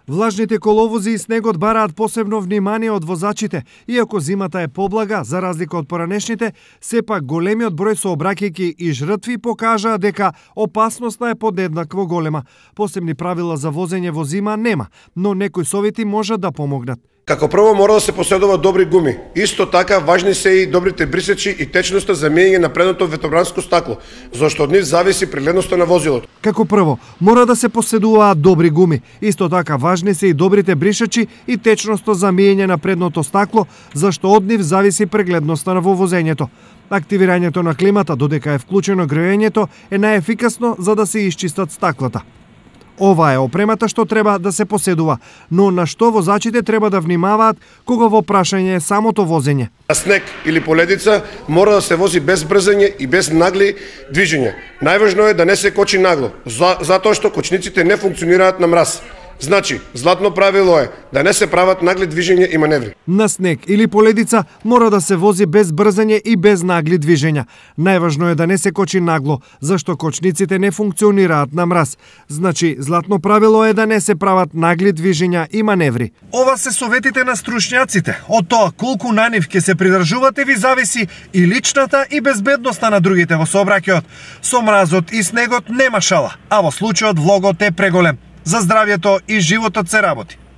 Влажните коловози и снегот бараат посебно внимание од возачите, иако зимата е поблага, за разлика од поранешните, сепак големиот број сообраќајки и жртви покажаа дека опасноста е подеднакво голема. Посебни правила за возење во зима нема, но некои совети можат да помогнат. Како прво мора да се поседува добри гуми. Исто така важни се и добрите брисачи и течноста за меење на предното ветробранско стакло, зашто од нив зависи прегледноста на возилото. Како прво, мора да се поседуваат добри гуми. Исто така важни се и добрите бришачи и течноста за меење на предното стакло, зашто од нив зависи прегледноста на вовозењето. Активирањето на климата, додека е вклучено грејењето, е најефикасно за да се исчистат стаклата. Ова е опремата што треба да се поседува, но на што возачите треба да внимаваат кога во прашање е самото возење. На снег или поледица мора да се вози без брзање и без нагли движења. Најважно е да не се кочи нагло, затоа што кочниците не функционираат на мраз. Значи, златно правило е да не се прават нагли движења и маневри. На снег или поледица мора да се вози без брзање и без нагли движења. Најважно е да не се кочи нагло, зашто кочниците не функционираат на мраз. Значи, златно правило е да не се прават нагли движења и маневри. Ова се советите на стручњаците. Од тоа колку на нив ќе се придржувате ви зависи и личната и безбедноста на другите во сообраќајот. Со мразот и снегот нема шала, а во случајот влогот е преголем. За здравјето и животот се работи.